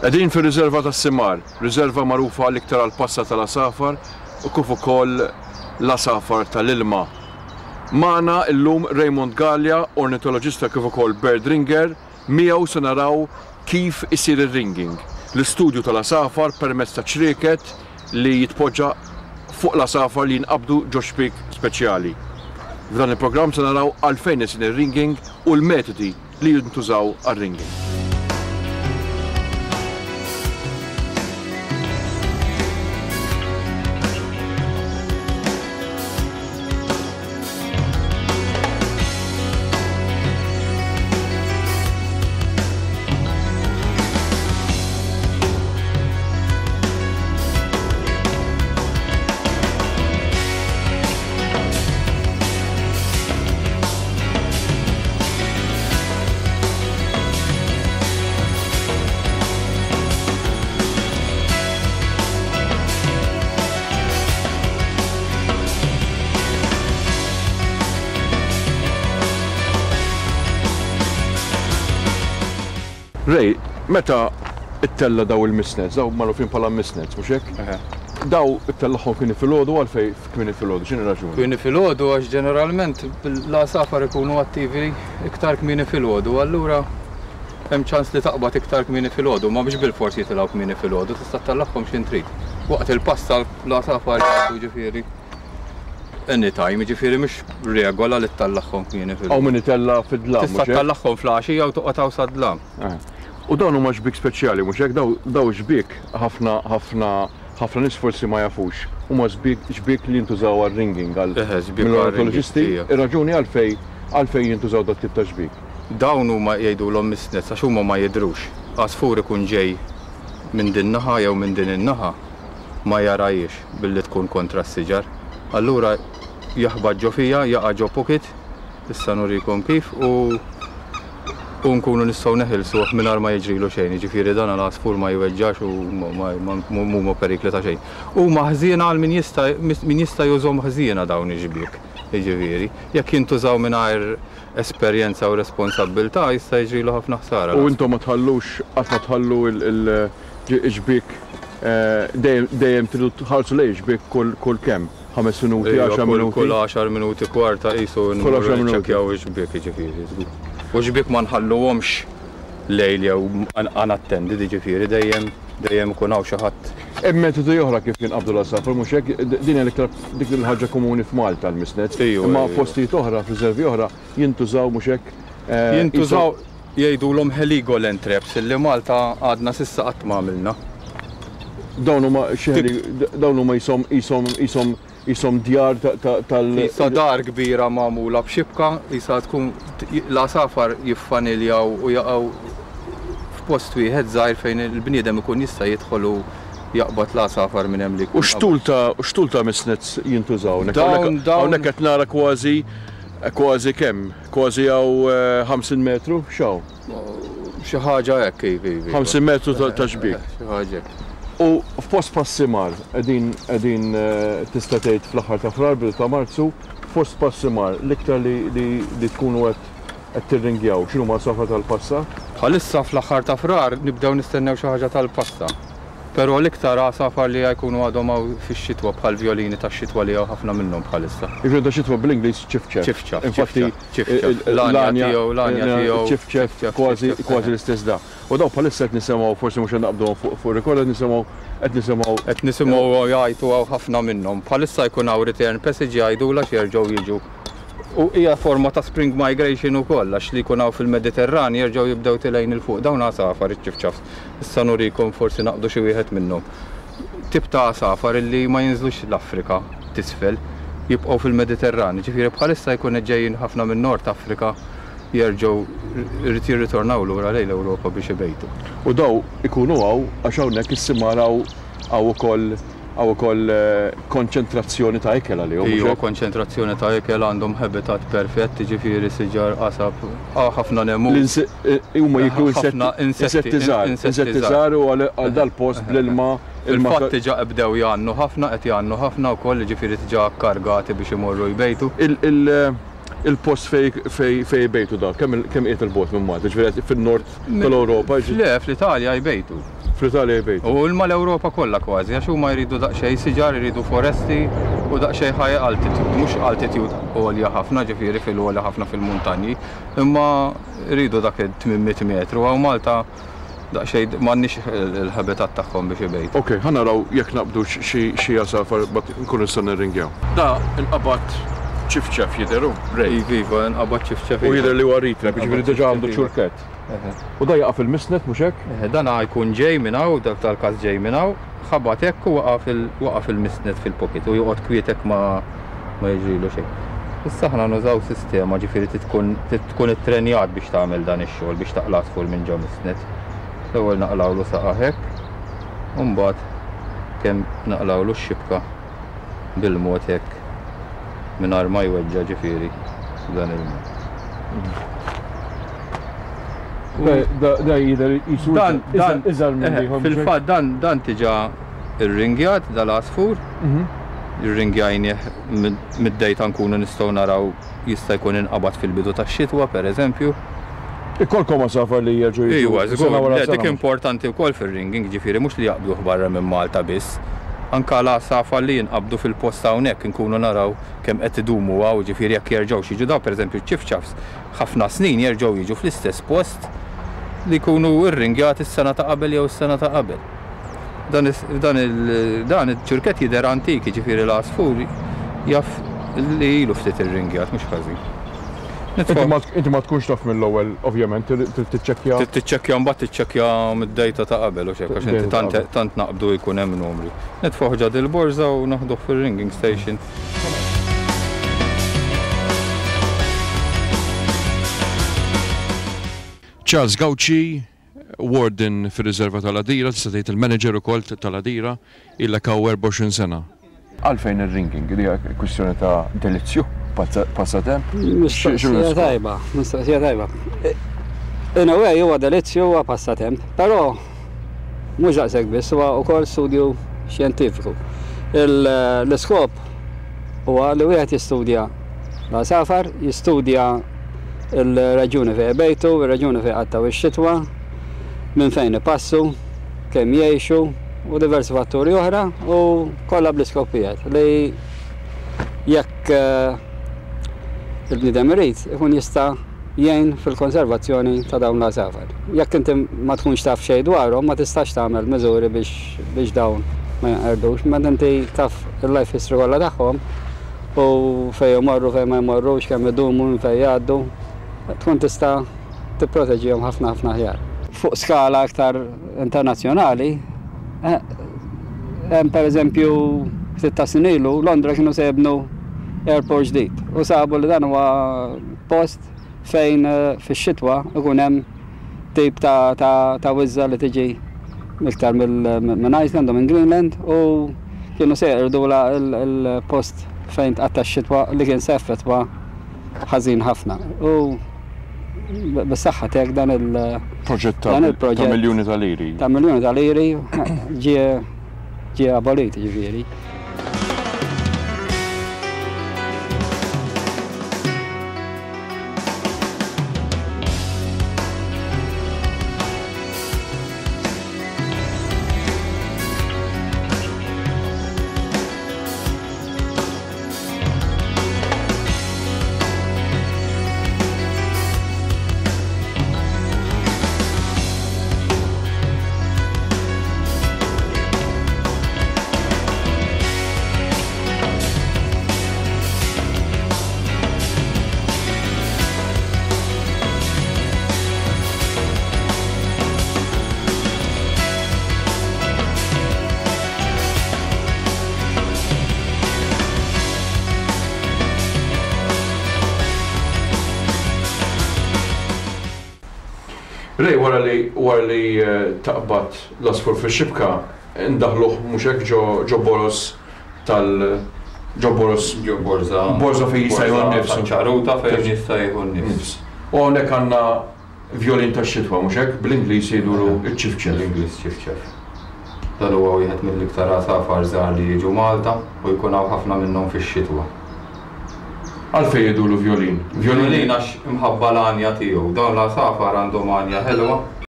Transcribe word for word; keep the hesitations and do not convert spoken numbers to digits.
Qegħdin fir-riserva tas-Simar, riserva magħrufa l-iktar għall-passa tal-għasafar u kif ukoll l-għasafar tal-ilma. Magħna llum Raymond Galea, ornitoloġista kif ukoll bird ringer, miegħu se naraw kif isir ir-ringing, l-istudju tal-għasafar permezz ta' ċrieket li jitpoġġa fuq l-għasafar li jinqabdu ġo xbiek speċjali. F'dan il-programm se naraw għalfejn isir ir-ringing u l-metodi li jintużaw għar-ringing. Ray, meta ittella daw il-mist nets, daw magħrufin bħala mist nets, mhux hekk? Daw ittellagħhom kmieni filgħodu, għalfejn kmieni filgħodu, x'inhi raġuni? Kmieni filgħodu għax ġeneralment l-għasafar ikunu attivi iktar kmieni filgħodu, allura hemm ċans li taqbad iktar kmieni filgħodu, ma biex bilfors jitilgħu kmieni filgħodu, tista' ttellagħhom x'in trid. Waqt il-passa l-għasafar jgħaddu ġifieri anytime, ġifieri mhux regola li ttellagħhom kmieni filgħodu. Hawn min itella' fid-dlam, Tista' ttellagħhom fl-għaxija u toqgħod hawn sad-dlam. U dawn huma xbiek speċjali, mhux hekk? Daw, daw xbiek ħafna, ħafna, ħafna nies forsi ma jafux. Huma xbiek, xbiek li jintużaw għar-ringing, għal Eħe, xbiek mill-ornitoloġisti. għar-ringing, ija. Ir-raġuni għalfej, għalfej jintużaw dat tip ta' xbiek. Dawn huma jgħidulhom mist nets għax huma ma jidhrux. Għasfur ikun ġej minn din naħa jew minn din in-naħa ma jarajiex billi tkun kontra s-siġar. Allura jaħbad ġo fija, jaqa' ġo pocket, issa nurikom kif, u u nkunu nistgħu neħilsuh mingħajr ma jiġrilu xejn, jiġifieri dan l-għasfur ma jweġġax u mhuma perikli ta' xejn. Huma ħżiena għal min jista' min jista' jużhom ħżiena dawn ix-xbiek, jiġifieri. Jekk jintużaw mingħajr esperjenza u responsabbiltà jista' jiġrilu ħafna ħsara. U intom ma tħallux, qatt ma tħallu il-xbiek, dejjem, dejjem tridu tħallsu lejn xbiek kull, kull kemm? Ħames minuti, Ejja, għaxar kull- minuti? Kull għaxar minuti, kwarta qisu Kull għaxar minuti. nċekkjaw ix-xbiek, jiġifieri, żgur. U xbiek ma nħalluhomx lejl jew unattended, jiġifieri, dejjem, dejjem ikun hawn xi ħadd. Hemm metodi oħra kif jinqabdu l-għasafar, mhux hekk? Din hija l-iktar dik il-ħaġa komuni f'Malta l-mist nets. Ejju, Imma ejju. postijiet oħra, f'riservi oħra, jintużaw mhux hekk? Eh, Jintużaw jgħidulhom Heligoland traps illi Malta għadna s'issa qatt ma għamilna. Dawn huma xi dawn huma jisom, jisom, jisom, jisom djar ta-, ta-, tal- Isa dar kbira magħmula b'xibka, isa tkun l-għasafar jiffaniljaw u jaqgħu f'post wieħed żgħir fejn il-bniedem ikun jista' jidħol u jaqbad l-għasafar minn hemm li jkun U x'tul ta', u x'tul ta' mist nets jintużaw? Dawn- Hawnhekk dawn- hawnhekk qed nara kważi, kważi kemm? Kważi hawn, eh, ħamsin metru? X'hawn? Xi ħaġa hekk, iva, iva. ħamsin metru ta', ta' xbiek. Xi ħaġa hekk. U f'post Passimar, qegħdin, qegħdin, eh, tista' tgħid fl-aħħar ta' Frar, bidu ta' Marzu, f'post Passimar, l-iktar li, li, li tkunu qed, qed tirringjaw, x'inhu ma' safra tal-passa? Bħalissa fl-aħħar ta' Frar nibdew nistennew xi ħaġa tal-passa. Però l-iktar għasafar li jkunu għadhom hawn fix-xitwa bħal vjolini tax-xitwa li hawn ħafna minnhom bħalissa. Jiġifieri ta' xitwa bl-Ingliż ċifċef. Ċifċaf, Infatti, ċifċaf, il-, il-, l-għanja l-għanja, tiegħu, l-għanja il-, tiegħu, ċifċef, ċifċef, kważi, ċifċef, kważi eh. l-istess da. U daw bħalissa qed nisimgħu, forsi mhux qed naqbduhom fuq, fuq record, qed nisimgħu, qed nisimgħu Qed nisimgħu jgħajtu hawn ħafna minnhom. Bħalissa jkun hawn return passage jgħidu għax jerġgħu jiġu. U hija forma ta' spring migration ukoll, għax li jkun hawn fil-Mediterran jerġgħu jibdew tilgħin il fuq. Dawn għasafar iċ-ċifċaf. Issa nurikom forsi naqdu xi wieħed minnhom. Tip ta' għasafar illi ma jinżlux l-Afrika tisfel, jibqgħu fil-Mediterran. Ġifieri bħalissa jkun ġejjin ħafna minn Nord Afrika jerġgħu jrid jirritornaw lura lejn l-Ewropa biex ibejtu. U daw ikunu hawn għax hawnhekk is-simar hawn, hawn ukoll, hawn ukoll, eh, konċentrazzjoni ta' ikel għalihom, mhux Ejju, hekk? konċentrazzjoni ta' ikel, għandhom habitat perfett, jiġifieri siġar, qasab, ah, ħafna nemu. L-inse-, eh, huma jiklu Ħafna insetti, insetti, insetti żgħar, insetti insetti żgħar. żgħar u għal, għal dal-post bl-ilma, ilma Fil-fatt ta' diġà bdew jgħannu ħafna, qed jgħannu ħafna wkoll, jiġifieri diġà kargati biex imorru jbejtu. Il-, il-, il-post fej, fej, fej jbejtu da, kemm il-, kemm qiegħed il-bogħod minn Malta, ġifieri fin-nord Mi- tal-Ewropa, ġi- Le, fl-Italja jbejtu. Fl-Italja jbejtu. U l-mal-Ewropa kollha kważi, għax huma jridu daqsxejn siġar, jridu foresti u daqsxejn high altitude, mhux altitude għolja ħafna, ġifieri fil-għolja ħafna fil-muntanji, imma jridu dak tmien mitt metru, hawn Malta daqsxejn m'għandniex il-habitat tagħhom biex ibejtu. Ok, ħa naraw jekk naqbdu xi għasafar nkunu nistgħu nirringjaw. Da inqabad ċifċef jidher hu? Iva, iva, inqabad ċifċef. U jidher li huwa ritrep, jiġifieri diġà għandu ċurkett. U da jaqa' fil-misnet, mhux hekk? Dan jkun ġej minn hawn, dak tal-każ ġej minn hawn, ħabat hekk u waqa' fil-misnet fil-pocket u joqgħod kwietek ma jiġrilu xejn. Issa aħna nużaw sistema, ġifieri tkun ittrenjat biex tagħmel dan ix-xogħol biex taqla' għasfur minn ġo misnet. L-ewwel naqlawlu saqa' hekk, u mbagħad kemm naqlawlu x-xibka bil-mod hekk mingħajr ma jweġġa' ġifieri dan il-mod. Da jidher jisu iżgħar minn ieħor. Fil-fatt dan dan diġà irringjat dal-għasfur. Irringjajnieh mid-dejta nkunu nistgħu naraw jista' jkun inqabad fil-bidu tax-xitwa pereżempju. Ikolkom għasafar li jerġgħu jiġu. Iwa, żgur, dik importanti wkoll fir-ringing, ġifieri mhux li jaqbduh barra minn Malta biss. Anka l-għasafar li jinqabdu fil-post hawnhekk inkunu naraw kemm qed idumu hawn, ġifieri jekk jerġgħux jiġu daw pereżempju ċ-ċifċafs ħafna snin jerġgħu jiġu fl-istess post li jkunu rringjati s-sena ta' qabel jew s-sena ta' qabel. Dan iċ-ċurkett jidher antik, ġifieri l-għasfur jaf li ilu ftit irringjat, mhux ħażin. Inti ma tkunx taf mill-ewwel, ovvjament, trid tiċċekkja. Trid tiċċekkja mbagħad tiċċekkja mid-dejta ta' qabel u xejn, għax inti tant naqbdu jkun hemm numri. Nitfgħu ġad il-borża u naħduh fir-ringing station. Charles Gauci, warden fir-riserva tal-Għadira, tista' tgħid il-manager ukoll tal-Għadira, ilek hawn erbgħa u għoxrin sena. Għalfejn ir-ringing, li hija kwistjoni ta' delizzju, passatemp? Mistoqsija tajba, mistoqsija tajba. In a way huwa delizzju huwa passatemp, però mhux daqshekk biss, huwa wkoll studju xjentifiku. L-iskop huwa li wieħed jistudja l-għasafar, jistudja il-raġuni fejn bejtu, il-raġuni fejn qattaw ix-xitwa, minn fejn ipassu, kemm jgħixu u diversi fatturi oħra u kollha bl-iskop wieħed li jekk il-bniedem irid ikun jista' jgħin fil-konservazzjoni ta' dawn l-għasafar. Jekk inti ma tkunx taf xejn dwarhom ma tistax tagħmel miżuri biex dawn ma jinqerdux, meta inti taf il-life history kollha tagħhom u fejn jmorru, fejn ma jmorrux, kemm idumu, minn fejn jgħaddu, tkun tista' tipproteġihom ħafna ħafna aħjar. Fuq skala aktar internazzjonali, hemm pereżempju ftit ta' snin ilu Londra kienu se jibnu airport ġdid u sabu li dan huwa post fejn fix-xitwa ikun hemm tip ta' ta' wiżża li tiġi iktar minn Iceland u minn Greenland u kienu se jeqirdu l-post fejn tqatta' x-xitwa li kien se effettwa ħażin ħafna. U bis-saħħa tiegħek dan il-proġett ta' miljuni ta' liri. Ta' miljuni ta' liri ġie ġie abolit ġifieri. Ray, wara li wara li taqbad l-għasfur fix-xibka, ndaħluh mhux hekk ġo boros tal ġo boros ġo borża borża fejn jista' jieħu n-nifs. Ċaruta fejn jista' jieħu n-nifs. U hawnhekk għandna vjolin tax-xitwa mhux hekk, bl-Ingliż jgħidulu ċ-ċifċef. Bl-Ingliż ċifċef. Dan huwa wieħed mill-iktar għasafar żgħar li jiġu Malta u jkun hawn ħafna minnhom fix-xitwa. Għalfejn jgħidulu vjolin? Vjolin għax imħabba l-għanja tiegħu. Dawn l-għasafar għandhom għanja ħelwa.